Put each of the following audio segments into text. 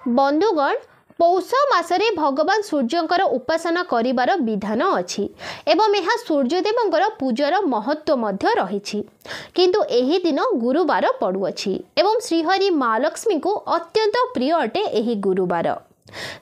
ବନ୍ଧୁଗଣ, ପୌଷ ମାସରେ ଭଗବାନ ସୂର୍ଯ୍ୟଙ୍କର ଉପାସନା କରିବାର ବିଧାନ ଅଛି ଏବଂ ଏହା ସୂର୍ଯ୍ୟଦେବଙ୍କର ପୂଜାର ମହତ୍ତ୍ୱ ମଧ୍ୟ ରହିଛି। କିନ୍ତୁ ଏହି ଦିନ ଗୁରୁବାର ପଡ଼ୁଅଛି ଏବଂ ଶ୍ରୀହରି ମା ଲକ୍ଷ୍ମୀଙ୍କୁ ଅତ୍ୟନ୍ତ ପ୍ରିୟ ଅଟେ ଏହି ଗୁରୁବାର,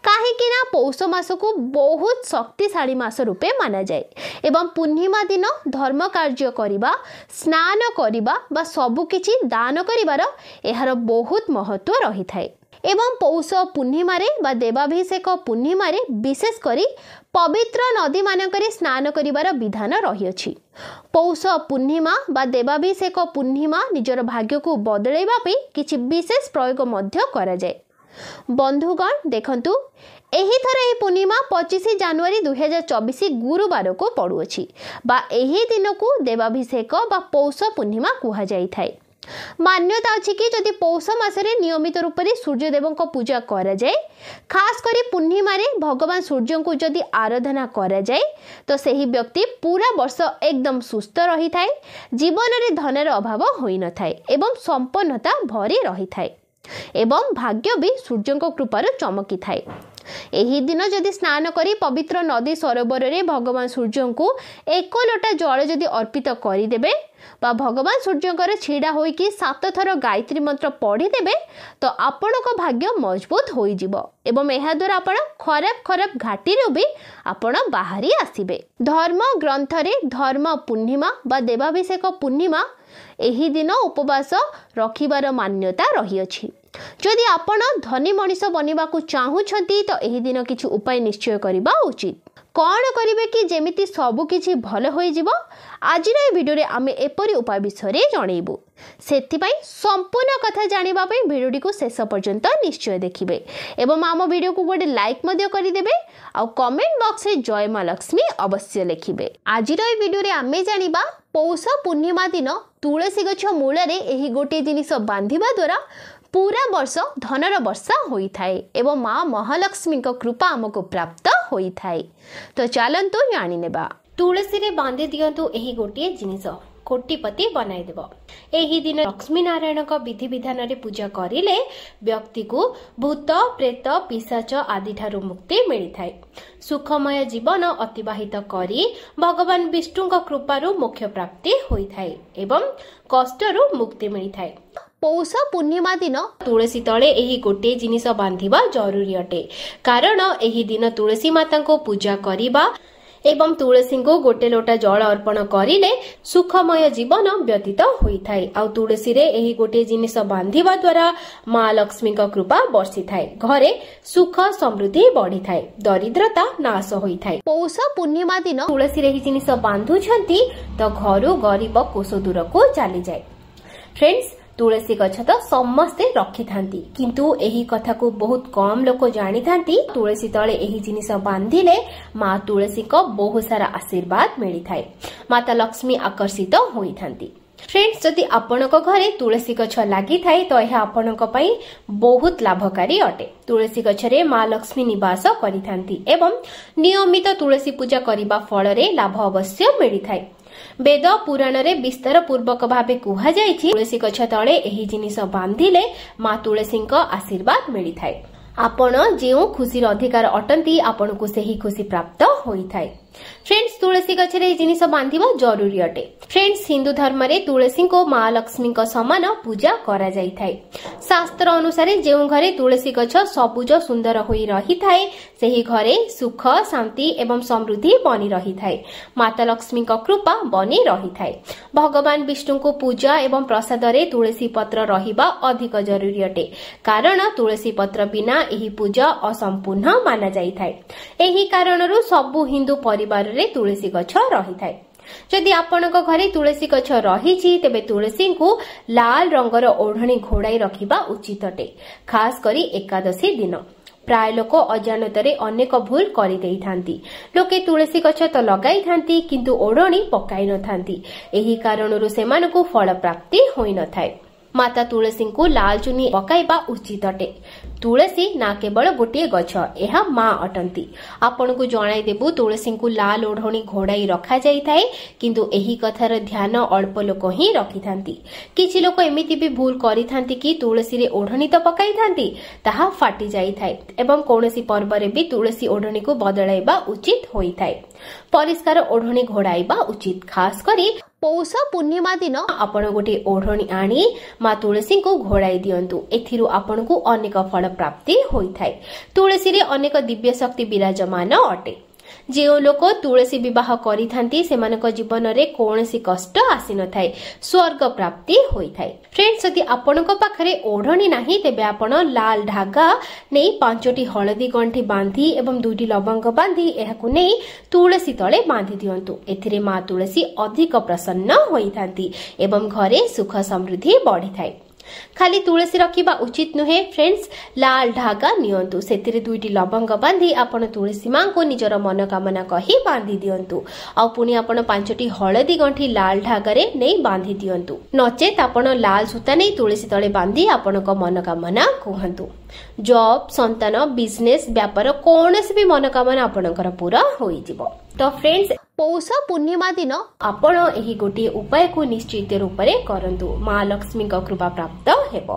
କାହିଁକି ନା ପୌଷ ମାସକୁ ବହୁତ ଶକ୍ତିଶାଳୀ ମାସ ରୂପେ ମାନାଯାଏ ଏବଂ ପୂର୍ଣ୍ଣିମା ଦିନ ଧର୍ମ କାର୍ଯ୍ୟ କରିବା, ସ୍ନାନ କରିବା ବା ସବୁକିଛି ଦାନ କରିବାର ଏହାର ବହୁତ ମହତ୍ତ୍ୱ ରହିଥାଏ। ଏବଂ ପୌଷ ପୂର୍ଣ୍ଣିମାରେ ବା ଦେବାଭିଷେକ ପୂର୍ଣ୍ଣିମାରେ ବିଶେଷ କରି ପବିତ୍ର ନଦୀମାନଙ୍କରେ ସ୍ନାନ କରିବାର ବିଧାନ ରହିଅଛି। ପୌଷ ପୂର୍ଣ୍ଣିମା ବା ଦେବାଭିଷେକ ପୂର୍ଣ୍ଣିମା ନିଜର ଭାଗ୍ୟକୁ ବଦଳାଇବା ପାଇଁ କିଛି ବିଶେଷ ପ୍ରୟୋଗ ମଧ୍ୟ କରାଯାଏ। ବନ୍ଧୁଗଣ, ଦେଖନ୍ତୁ, ଏହିଥର ଏହି ପୂର୍ଣ୍ଣିମା 25 ଜାନୁଆରୀ 2024 ଗୁରୁବାରକୁ ପଡ଼ୁଅଛି ବା ଏହି ଦିନକୁ ଦେବାଭିଷେକ ବା ପୌଷ ପୂର୍ଣ୍ଣିମା କୁହାଯାଇଥାଏ। ମାନ୍ୟତା ଅଛି କି ଯଦି ପୌଷ ମାସରେ ନିୟମିତ ରୂପରେ ସୂର୍ଯ୍ୟଦେବଙ୍କ ପୂଜା କରାଯାଏ, ଖାସ କରି ପୂର୍ଣ୍ଣିମାରେ ଭଗବାନ ସୂର୍ଯ୍ୟଙ୍କୁ ଯଦି ଆରାଧନା କରାଯାଏ, ତ ସେହି ବ୍ୟକ୍ତି ପୁରା ବର୍ଷ ଏକଦମ ସୁସ୍ଥ ରହିଥାଏ, ଜୀବନରେ ଧନର ଅଭାବ ହୋଇନଥାଏ ଏବଂ ସମ୍ପନ୍ନତା ଭରି ରହିଥାଏ ଏବଂ ଭାଗ୍ୟ ବି ସୂର୍ଯ୍ୟଙ୍କ କୃପାରୁ ଚମକିଥାଏ। ଏହି ଦିନ ଯଦି ସ୍ନାନ କରି ପବିତ୍ର ନଦୀ ସରୋବରରେ ଭଗବାନ ସୂର୍ଯ୍ୟଙ୍କୁ ଏକ ଲୋଟା ଜଳ ଯଦି ଅର୍ପିତ କରିଦେବେ ବା ଭଗବାନ ସୂର୍ଯ୍ୟଙ୍କର ଛିଡ଼ା ହୋଇକି 7 ଥର ଗାୟତ୍ରୀ ମନ୍ତ୍ର ପଢ଼ିଦେବେ, ତ ଆପଣଙ୍କ ଭାଗ୍ୟ ମଜବୁତ ହୋଇଯିବ ଏବଂ ଏହାଦ୍ୱାରା ଆପଣ ଖରାପ ଖରାପ ଘାଟିରୁ ବି ଆପଣ ବାହାରି ଆସିବେ। ଧର୍ମ ଗ୍ରନ୍ଥରେ ଧର୍ମ ପୂର୍ଣ୍ଣିମା ବା ଦେବାଭିଷେକ ପୂର୍ଣ୍ଣିମା ଏହି ଦିନ ଉପବାସ ରଖିବାର ମାନ୍ୟତା ରହିଅଛି। ଯଦି ଆପଣ ଧନୀ ମଣିଷ ବନିବାକୁ ଚାହୁଁଛନ୍ତି, ତ ଏହି ଦିନ କିଛି ଉପାୟ ନିଶ୍ଚୟ କରିବା ଉଚିତ। କ'ଣ କରିବେ କି ଯେମିତି ସବୁ କିଛି ଭଲ ହୋଇଯିବ, ଆଜିର ଏ ଭିଡ଼ିଓରେ ଆମେ ଏପରି ଉପାୟ ବିଷୟରେ ଜଣେଇବୁ। ସେଥିପାଇଁ ସମ୍ପୂର୍ଣ୍ଣ କଥା ଜାଣିବା ପାଇଁ ଭିଡ଼ିଓଟିକୁ ଶେଷ ପର୍ଯ୍ୟନ୍ତ ନିଶ୍ଚୟ ଦେଖିବେ ଏବଂ ଆମ ଭିଡ଼ିଓକୁ ଗୋଟେ ଲାଇକ୍ ମଧ୍ୟ କରିଦେବେ ଆଉ କମେଣ୍ଟ ବକ୍ସରେ ଜୟ ମା ଲକ୍ଷ୍ମୀ ଅବଶ୍ୟ ଲେଖିବେ। ଆଜିର ଏ ଭିଡ଼ିଓରେ ଆମେ ଜାଣିବା ପୌଷ ପୂର୍ଣ୍ଣିମା ଦିନ ତୁଳସୀ ଗଛ ମୂଳରେ ଏହି ଗୋଟିଏ ଜିନିଷ ବାନ୍ଧିବା ଦ୍ୱାରା ପୁରା ବର୍ଷ ଧନର ବର୍ଷା ହୋଇଥାଏ ଏବଂ ମା ମହାଲକ୍ଷ୍ମୀଙ୍କ କୃପା ଆମକୁ ପ୍ରାପ୍ତ ହୋଇଥାଏ। ତ ଚାଲନ୍ତୁ ଜାଣିନେବା। ତୁଳସୀରେ ବାନ୍ଧି ଦିଅନ୍ତୁ ଏହି ଗୋଟିଏ ଜିନିଷ, କୋଟିପତି ବନାଇଦେବ। ଏହି ଦିନ ଲକ୍ଷ୍ମୀ ନାରାୟଣଙ୍କ ବିଧିବିଧାନରେ ପୂଜା କରିଲେ ବ୍ୟକ୍ତିକୁ ଭୂତ, ପ୍ରେତ, ପିଶାଚ ଆଦିଠାରୁ ମୁକ୍ତି ମିଳିଥାଏ। ସୁଖମୟ ଜୀବନ ଅତିବାହିତ କରି ଭଗବାନ ବିଷ୍ଣୁଙ୍କ କୃପାରୁ ମୋକ୍ଷ ପ୍ରାପ୍ତି ହୋଇଥାଏ ଏବଂ କଷ୍ଟରୁ ମୁକ୍ତି ମିଳିଥାଏ। ପୌଷ ପୂର୍ଣ୍ଣିମା ଦିନ ତୁଳସୀ ତଳେ ଏହି ଗୋଟିଏ ଜିନିଷ ବାନ୍ଧିବା ଜରୁରୀ ଅଟେ, କାରଣ ଏହି ଦିନ ତୁଳସୀ ମାତାଙ୍କୁ ପୂଜା କରିବା ଏବଂ ତୁଳସୀଙ୍କୁ ଗୋଟେ ଲୋଟା ଜଳ ଅର୍ପଣ କରିଲେ ସୁଖମୟ ଜୀବନ ବ୍ୟତୀତ ହୋଇଥାଏ। ଆଉ ତୁଳସୀରେ ଏହି ଗୋଟିଏ ଜିନିଷ ବାନ୍ଧିବା ଦ୍ୱାରା ମା ଲକ୍ଷ୍ମୀଙ୍କ କୃପା ବର୍ଷିଥାଏ, ଘରେ ସୁଖ ସମୃଦ୍ଧି ବଢିଥାଏ, ଦରିଦ୍ରତା ନାଶ ହୋଇଥାଏ। ପୌଷ ପୂର୍ଣ୍ଣିମା ଦିନ ତୁଳସୀରେ ଏହି ଜିନିଷ ବାନ୍ଧୁଛନ୍ତି ତ ଘରୁ ଗରିବ କୋଷ ଦୂରକୁ ଚାଲିଯାଏ। ଫ୍ରେଣ୍ଡସ୍, ତୁଳସୀ ଗଛ ତ ସମସ୍ତେ ରଖିଥାନ୍ତି, କିନ୍ତୁ ଏହି କଥାକୁ ବହୁତ କମ ଲୋକ ଜାଣିଥାନ୍ତି। ତୁଳସୀ ତଳେ ଏହି ଜିନିଷ ବାନ୍ଧିଲେ ମା ତୁଳସୀଙ୍କ ବହୁତ ସାରା ଆଶୀର୍ବାଦ ମିଳିଥାଏ, ମାତା ଲକ୍ଷ୍ମୀ ଆକର୍ଷିତ ହୋଇଥାନ୍ତି। ଫ୍ରେଣ୍ଡସ୍, ଯଦି ଆପଣଙ୍କ ଘରେ ତୁଳସୀ ଗଛ ଲାଗିଥାଏ ତ ଏହା ଆପଣଙ୍କ ପାଇଁ ବହୁତ ଲାଭକାରୀ ଅଟେ। ତୁଳସୀ ଗଛରେ ମା ଲକ୍ଷ୍ମୀ ନିବାସ କରିଥାନ୍ତି ଏବଂ ନିୟମିତ ତୁଳସୀ ପୂଜା କରିବା ଫଳରେ ଲାଭ ଅବଶ୍ୟ ମିଳିଥାଏ। ବେଦ ପୁରାଣରେ ବିସ୍ତାର ପୂର୍ବକ ଭାବେ କୁହାଯାଇଛି, ତୁଳସୀ ଗଛ ତଳେ ଏହି ଜିନିଷ ବାନ୍ଧିଲେ ମା ତୁଳସୀଙ୍କ ଆଶୀର୍ବାଦ ମିଳିଥାଏ। ଆପଣ ଯେଉଁ ଖୁସିର ଅଧିକାର ଅଟନ୍ତି, ଆପଣଙ୍କୁ ସେହି ଖୁସି ପ୍ରାପ୍ତ ହୋଇଥାଏ। ଫ୍ରେଣ୍ଡସ୍, ତୁଳସୀ ଗଛରେ ଏହି ଜିନିଷ ବାନ୍ଧିବା ଜରୁରୀ ଅଟେ। ଫ୍ରେଣ୍ଡସ୍, ହିନ୍ଦୁ ଧର୍ମରେ ତୁଳସୀଙ୍କୁ ମା ଲକ୍ଷ୍ମୀଙ୍କ ସମାନ ପୂଜା କରାଯାଇଥାଏ। ଶାସ୍ତ୍ର ଅନୁସାରେ ଯେଉଁ ଘରେ ତୁଳସୀ ଗଛ ସବୁଜ ସୁନ୍ଦର ହୋଇ ରହିଥାଏ, ସେହି ଘରେ ସୁଖ, ଶାନ୍ତି ଏବଂ ସମୃଦ୍ଧି ବନି ରହିଥାଏ, ମାତା ଲକ୍ଷ୍ମୀଙ୍କ କୃପା ବନି ରହିଥାଏ। ଭଗବାନ ବିଷ୍ଣୁଙ୍କୁ ପୂଜା ଏବଂ ପ୍ରସାଦରେ ତୁଳସୀ ପତ୍ର ରହିବା ଅଧିକ ଜରୁରୀ ଅଟେ, କାରଣ ତୁଳସୀ ପତ୍ର ବିନା ଏହି ପୂଜା ଅସମ୍ପୂର୍ଣ୍ଣ ମାନାଯାଇଥାଏ। ଏହି କାରଣରୁ ସବୁ ହିନ୍ଦୁ ପରିବାରରେ ତୁଳସୀ ଗଛ ରହିଥାଏ। ଯଦି ଆପଣଙ୍କ ଘରେ ତୁଳସୀ ଗଛ ରହିଛି, ତେବେ ତୁଳସୀଙ୍କୁ ଲାଲ ରଙ୍ଗର ଓଢ଼ଣୀ ଘୋଡ଼ାଇ ରଖିବା ଉଚିତ ଅଟେ, ଖାସ କରି ଏକାଦଶୀ ଦିନ। ପ୍ରାୟ ଲୋକ ଅଜାଣତରେ ଅନେକ ଭୁଲ କରିଦେଇଥାନ୍ତି। ଲୋକେ ତୁଳସୀ ଗଛ ତ ଲଗାଇଥାନ୍ତି, କିନ୍ତୁ ଓଢ଼ଣୀ ପକାଇ ନଥାନ୍ତି। ଏହି କାରଣରୁ ସେମାନଙ୍କୁ ଫଳ ପ୍ରାପ୍ତି ହୋଇନଥାଏ। ମାତା ତୁଳସୀଙ୍କୁ ଲାଲ ଚୁନି ପକାଇବା ଉଚିତ ଅଟେ। ତୁଳସୀ ନା କେବଳ ଗୋଟିଏ ଗଛ, ଏହା ମା ଅଟନ୍ତି। ଆପଣଙ୍କୁ ଜଣାଇଦେବୁ, ତୁଳସୀଙ୍କୁ ଲାଲ ଓଢ଼ଣୀ ଘୋଡ଼ାଇ ରଖାଯାଇଥାଏ, କିନ୍ତୁ ଏହି କଥାର ଧ୍ୟାନ ଅଳ୍ପ ଲୋକ ହିଁ ରଖିଥାନ୍ତି। କିଛି ଲୋକ ଏମିତି ବି ଭୁଲ କରିଥାନ୍ତି କି ତୁଳସୀରେ ଓଢ଼ଣୀ ତ ପକାଇଥାନ୍ତି, ତାହା ଫାଟି ଯାଇଥାଏ ଏବଂ କୌଣସି ପର୍ବରେ ବି ତୁଳସୀ ଓଢ଼ଣୀକୁ ବଦଳାଇବା ଉଚିତ ହୋଇଥାଏ। ପରିଷ୍କାର ଓଢ଼ଣୀ ଘୋଡ଼ାଇବା ଉଚିତ। ଖାସ କରି ପୌଷ ପୂର୍ଣ୍ଣିମା ଦିନ ଆପଣ ଗୋଟିଏ ଓଢ଼ଣୀ ଆଣି ମା ତୁଳସୀଙ୍କୁ ଘୋଡ଼ାଇ ଦିଅନ୍ତୁ। ଏଥିରୁ ଆପଣଙ୍କୁ ଅନେକ ଫଳ ପ୍ରାପ୍ତି ହୋଇଥାଏ। ତୁଳସୀରେ ଅନେକ ଦିବ୍ୟ ଶକ୍ତି ବିରାଜମାନ ଅଟେ। ଯେଉଁ ଲୋକ ତୁଳସୀ ବିବାହ କରିଥାନ୍ତି, ସେମାନଙ୍କ ଜୀବନରେ କୌଣସି କଷ୍ଟ ଆସିନଥାଏ, ସ୍ୱର୍ଗ ପ୍ରାପ୍ତି ହୋଇଥାଏ। ଫ୍ରେଣ୍ଡସ୍, ଯଦି ଆପଣଙ୍କ ପାଖରେ ଓଢ଼ଣୀ ନାହିଁ, ତେବେ ଆପଣ ଲାଲ ଧାଗା ନେଇ 5ଟି ହଳଦୀ ଗଣ୍ଠି ବାନ୍ଧି ଏବଂ 2ଟି ଲବଙ୍ଗ ବାନ୍ଧି ଏହାକୁ ନେଇ ତୁଳସୀ ତଳେ ବାନ୍ଧି ଦିଅନ୍ତୁ। ଏଥିରେ ମା ତୁଳସୀ ଅଧିକ ପ୍ରସନ୍ନ ହୋଇଥାନ୍ତି ଏବଂ ଘରେ ସୁଖ ସମୃଦ୍ଧି ବଢିଥାଏ। ଖାଲି ତୁଳସୀ ରଖିବା ଉଚିତ ନୁହେଁ। ଫ୍ରେଣ୍ଡସ୍, ଲାଲ ଧାଗା ନିଅନ୍ତୁ, ସେଥିରେ 2ଟି ଲବଙ୍ଗ ବାନ୍ଧି ଆପଣ ତୁଳସୀ ମାଙ୍କୁ ନିଜର ମନୋକାମନା କହି ବାନ୍ଧି ଦିଅନ୍ତୁ। ଆଉ ପୁଣି ଆପଣ 5ଟି ହଳଦୀ ଗଣ୍ଠି ଲାଲ ଧାଗାରେ ନେଇ ବାନ୍ଧି ଦିଅନ୍ତୁ। ନଚେତ ଆପଣ ଲାଲ ସୂତା ନେଇ ତୁଳସୀ ତଳେ ବାନ୍ଧି ଆପଣଙ୍କ ମନୋକାମନା କୁହନ୍ତୁ। ଜବ୍, ସନ୍ତାନ, ବିଜନେସ୍, ବ୍ୟାପାର, କୌଣସି ବି ମନୋକାମନା ଆପଣଙ୍କର ପୁରା ହୋଇଯିବ। ତ ଫ୍ରେଣ୍ଡସ୍, ପୌଷ ପୂର୍ଣ୍ଣିମା ଦିନ ଆପଣ ଏହି ଗୋଟିଏ ଉପାୟକୁ ନିଶ୍ଚିତ ରୂପରେ କରନ୍ତୁ, ମା ଲକ୍ଷ୍ମୀଙ୍କ କୃପା ପ୍ରାପ୍ତ ହେବ।